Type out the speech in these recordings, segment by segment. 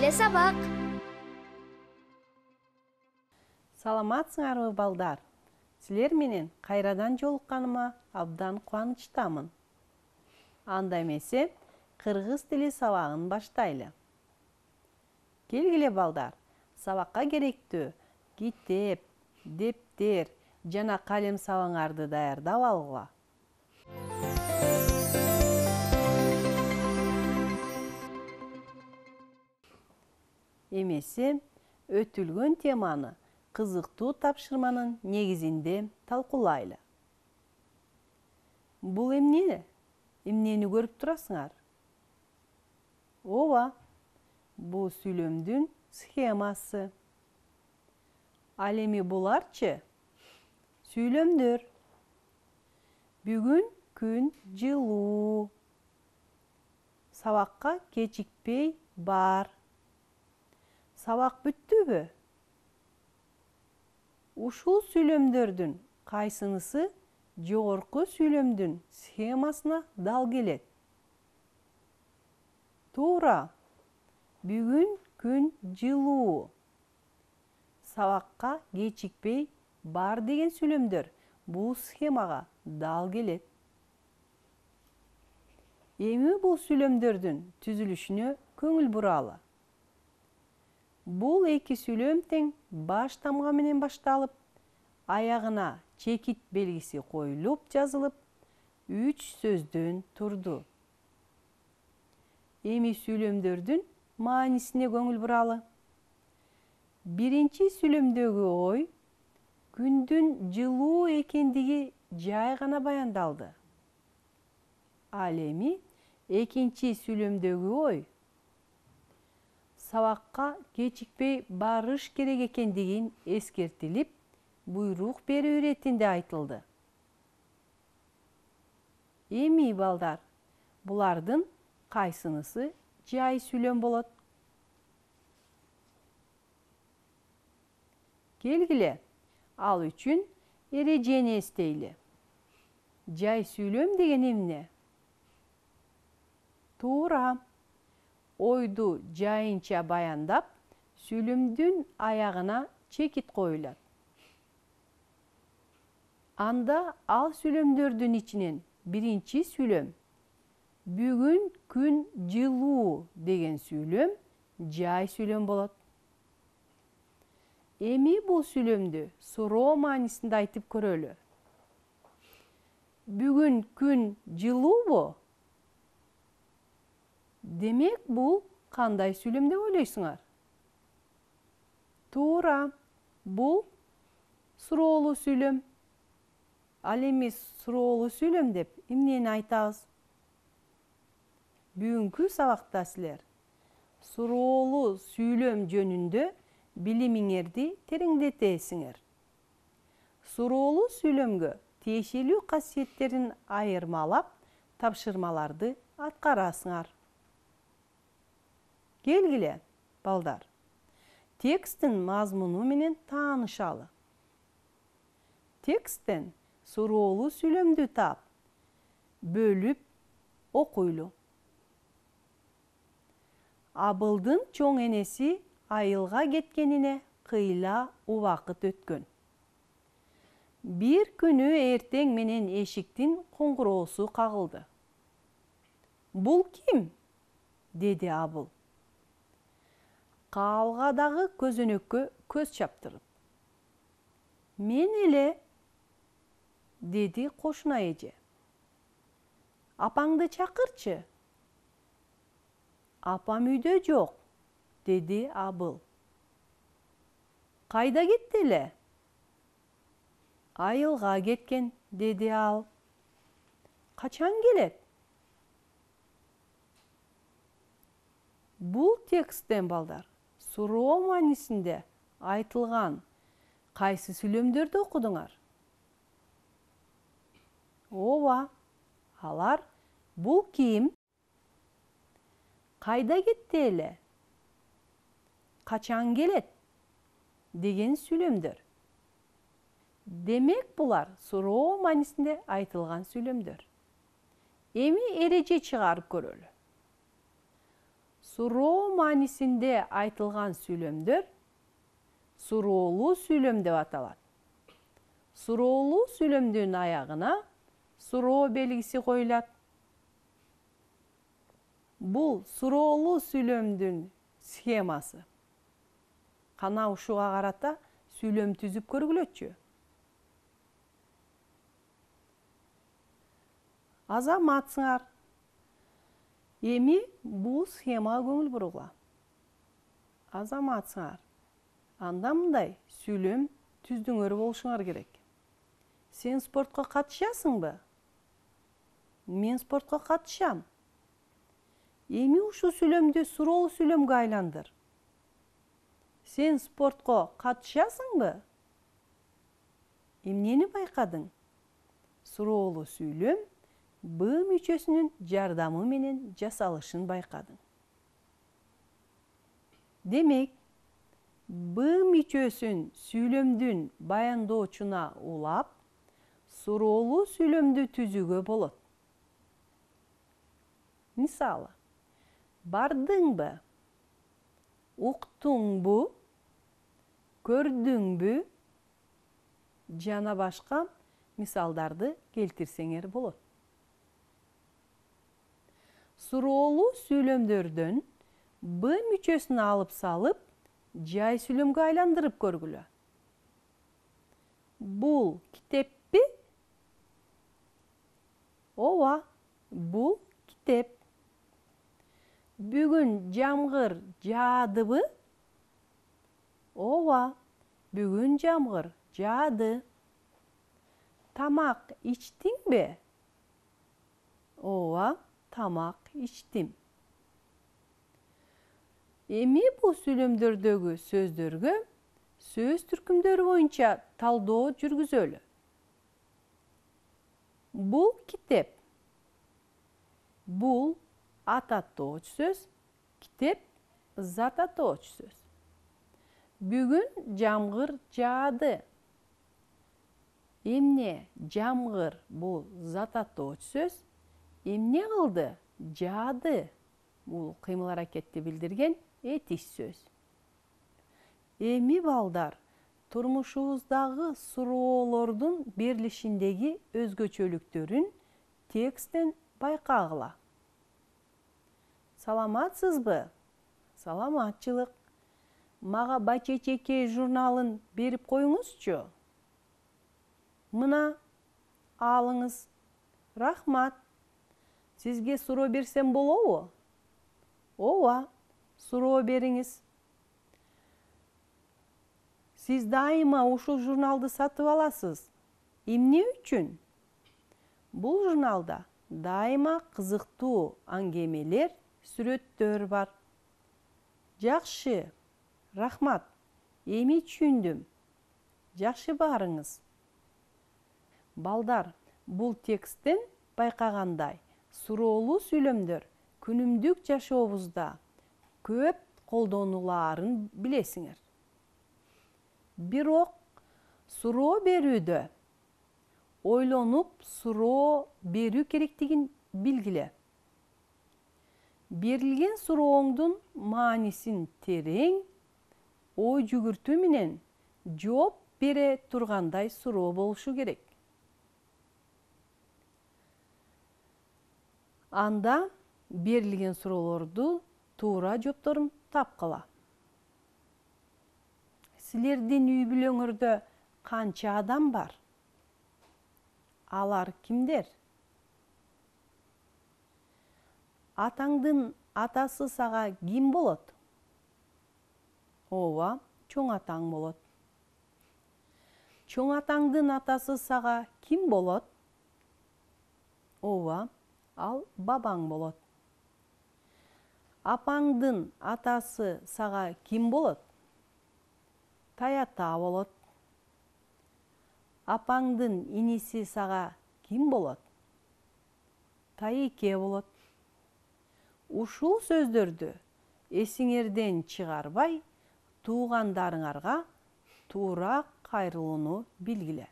эле сабак. Саламатсыңарбы балдар? Силер менен кайрадан жолукканыма абдан кубанычтамын. Анда эмесе кыргыз тили сабагын баштайлы. Келгиле балдар, сабакка керектүү китеп, дептер жана калем сабаңарды даярдап алгыла. Эмесе өтүлгөн теманы кызыктуу тапшырманын негизинде талкуулайлы. Бул эмне? Эмнени көрүп турасыңар? Ооба, бул сүйлөмдүн схемасы. Ал эми буларчы? Сүйлөмдөр. Бүгүн күн жылуу. Сабакка кечикпей бар. Сабак бүттүбү? Ушул сүйлөмдөрдүн кайсынысы жогорку сүйлөмдүн схемасына дал келет? Туура. Бүгүн күн жылуу. Сабакка кечикпей бар деген сүйлөмдөр бул схемага дал келет. Эми бул сүйлөмдөрдүн түзүлүшүнө көңүл буралы. Бул эки сүйлөм тең баш тамга менен башталып, аягына чекит белгиси коюлуп жазылып, 3 сөздөн турду. Эми сүйлөмдөрдүн маанисине көңүл буралы. Биринчи сүйлөмдөгү ой күндүн жылуу экендиги жай гана баяндалды. Ал эми экинчи сүйлөмдөгү ой сабакка кечикпей барыш керек экендигин эскертилип, буйрук берүү иретинде айтылды. Эми балдар, булардын кайсынысы жай сүйлөм болот? Келгиле, ал үчүн эрежени эстейли. Жай сүйлөм деген эмне? Туура. Ойду жайынча баяндап, сүйлөмдүн аягына чекит коюлат. Анда ал сүйлөмдөрдүн ичинен биринчи сүйлөм бүгүн күн жылуу деген сүйлөм жай сүйлөм болот. Эми бул сүйлөмдү суроо маанисинде айтып көрөлү. Бүгүн күн жылуубу? Демек, бул кандай сүйлөм деп ойлойсуңар? Туура, бул суроолуу сүйлөм. Ал эми суроолуу сүйлөм деп эмнени айтабыз? Бүгүнкү сабакта силер суроолуу сүйлөм жөнүндө билимиңерди тереңдетесиңер. Суроолуу сүйлөмгө тиешелүү касиеттерин айырмалап, тапшырмаларды аткарасыңар. Келгиле, балдар, тексттин мазмуну менен таанышалы. Тексттен суроолуу сүйлөмдү таап, бөлүп окуйлу. Абылдын чоң энеси айылга кеткенине кыйла убакыт өткөн. Бир күнү эртең менен эшиктин коңгуроосу кагылды. Бул ким? Деди Абыл. Каалгадагы көзөнөккө көз чаптырып. Мен эле, деди кошуна эже. Апаңды чакырчы. Апам үйдө жок, деди Абыл. Кайда кетти эле? Айылга кеткен, деди ал. Качан келет? Бул тексттен балдар суроо маанисинде айтылган кайсы сүйлөмдөрдү окудуңар? Ооба, алар бул ким? Кайда кетти эле? Качан келет? Деген сүйлөмдөр. Демек, булар суроо маанисинде айтылган сүйлөмдөр. Эми эреже чыгарып көрөлү. Суроо маанисинде айтылган сүйлөмдөр суроолуу сүйлөм деп аталат. Суроолуу сүйлөмдүн аягына суроо белгиси коюлат. Бул суроолуу сүйлөмдүн схемасы. Кана ушуга карата сүйлөм түзүп көргүлөчү. Азаматсыңар. Эми бул схемага көңүл бургула. Азаматсыңар. Анда мындай сүйлөм түздүңөр болушуңар керек. Сен спортко катышасыңбы? Мен спортко катышам. Эми ушул сүйлөмдү суроолуу сүйлөмгө айландыр. Сен спортко катышасыңбы? Эмнени байкадың? Суроолуу сүйлөм Б мүчөсүнүн жардамы менен жасалышын байкадың. Демек, Б мүчөсүн сүйлөмдүн баяндоочуна улап, суроолуу сүйлөмдү түзүүгө болот. Мисалы, бардыңбы? Уктуңбу? Көрдүңбү? Жана башка мисалдарды келтирсеңер болот. Суроолуу сүйлөмдөрдөн Б мүчөсүн алып салып, жай сүйлөмгө айландырып көргүлө. Бул китеппи? Ооба, бул китеп. Бүгүн жамгыр жаадыбы? Ооба, бүгүн жамгыр жаады. Тамак ичтиңби? Ооба, тамак ичтим. Эми бул сүйлөмдөрдөгү сөздөргө сөз түркүмдөрү боюнча талдоо жүргүзөлү. Бул китеп. Бул ат атооч сөз, китеп зат атооч сөз. Бүгүн жамгыр жаады. Эмне жамгыр бул зат атооч сөз, эмне кылды? Жаады. Бул кыймыл аракетти билдирген этиш сөз. Эми балдар, турмушубуздагы суроолордун берилишиндеги өзгөчөлүктөрүн тексттен байкагыла. Саламатсызбы? Саламатчылык. Мага Бачечекей журналын берип коюңузчу. Мына, алыңыз. Рахмат. Сизге суроо берсем болобу? Ооба, суроо бериңиз. Сиз дайыма ушул журналды сатып аласыз. Эмне үчүн? Бул журналда дайыма кызыктуу аңгемелер, сүрөттөр бар. Жакшы, рахмат. Эми түшүндүм. Жакшы, барыңыз. Балдар, бул тексттен байкагандай, суроолуу сүйлөмдөр күнүмдүк жашообузда көп колдонулаарын билесиңер. Бирок суроо берүүдө ойлонуп суроо берүү керектигин билгиле. Берилген сурооңдун маанисин терең, ой жүгүртүү менен жооп бере тургандай суроо болушу керек. Анда берилген суроолорду туура жоопторун тапкыла. Силердин үй бүлөңөрдө канча адам бар? Алар кимдер? Атаңдын атасы сага ким болот? Ооба, чоң атаң болот. Чоң атаңдын атасы сага ким болот? Ооба, ал бабаң болот. Апаңдын атасы сага ким болот? Таята болот. Апаңдын иниси сага ким болот? Тайеке болот. Ушул сөздөрдү эсиңерден чыгарбай, туугандарыңарга туура кайрылууну билгиле.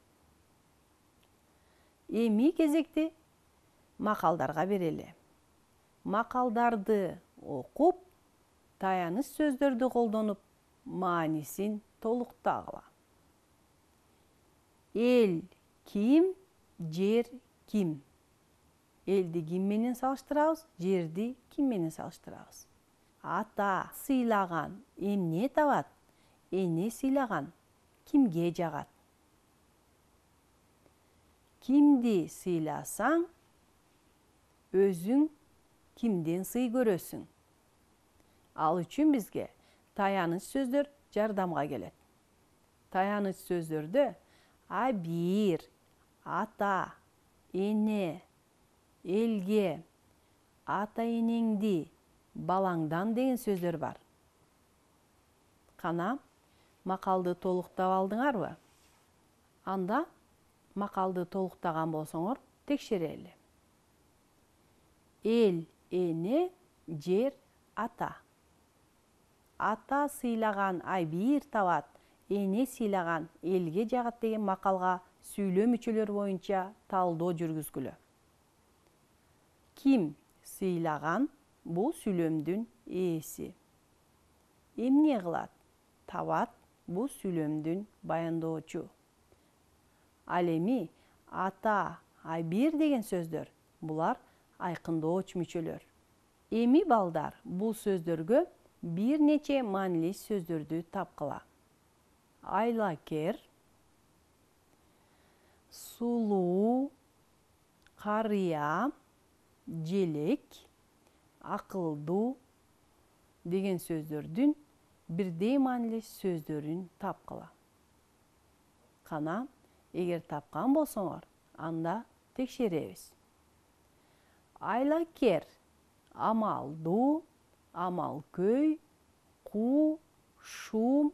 Эми кезекти макалдарга берели. Макалдарды окуп, таяныч сөздөрдү колдонуп, маанисин толуктагыла. Эл ким, жер ким? Элди ким менен салыштырабыз, жерди ким менен салыштырабыз? Ата сыйлаган эмне табат? Эне сыйлаган кимге жагат? Кимди сыйласаң, өзүң кимден сый көрөсүң? Ал үчүн бизге таяныч сөздөр жардамга келет. Таяныч сөздөрдө абийир, ата, эне, элге, ата энеңди, балаңдан деген сөздөр бар. Кана, макалды толуктап алдыңарбы? Анда макалды толуктаган болсоңор, текшерели. Эл, эне, жер, ата. Ата сыйлаган абийир табат, эне сыйлаган элге жагат деген макалга сүйлөм мүчөлөр боюнча талдоо жүргүзгүлө. Ким сыйлаган бул сүйлөмдүн ээси. Эмне кылат? Табат бул сүйлөмдүн баяндоочу. Ал эми ата, абийир деген сөздөр булар айкындооч мүчөлөр. Эми балдар бул сөздөргө бир нече маанилүү сөздөрдү тапкыла. Айлакер, сулуу, карыя, желек, акылдуу деген сөздөрдүн бирдей маанилүү сөздөрүн тапкыла. Кана, эгер тапкан болсоңор, анда текшеребиз. Айлакер амалдуу, амалкөй, куу, шум,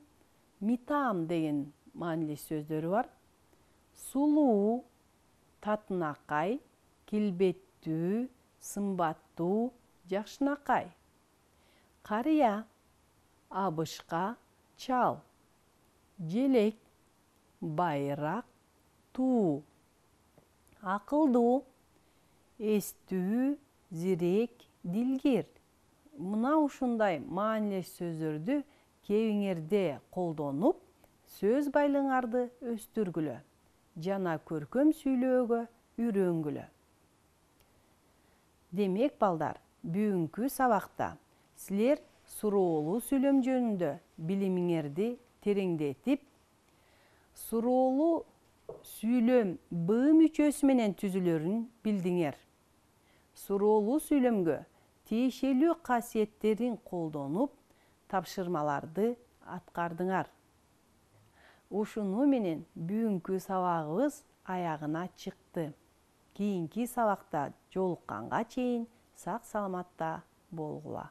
митаам деген маанилүү сөздөрү бар. Сулуу, татынакай, келбеттүү, сымбаттуу, жакшынакай. Карыя, абышка, чал. Желек, байыраак, туу. Акылдуу, эстүү, зирек, дилгир. Мына ушундай маанилүү сөздөрдү кебиңерде колдонуп, сөз байлыгыңарды өстүргүлө жана көркөм сүйлөөгө үйрөнгүлө. Демек, балдар, бүгүнкү сабакта силер суроолуу сүйлөм жөнүндө билимиңерди тереңдетип, суроолуу сүйлөм Б мүчөсү менен түзүлөрүн билдиңер. Суроолуу сүйлөмгө тиешелүү касиеттерин колдонуп, тапшырмаларды аткардыңар. Ушуну менен бүгүнкү сабагыбыз аягына чыкты. Кийинки сабакта жолукканга чейин сак саламатта болгула.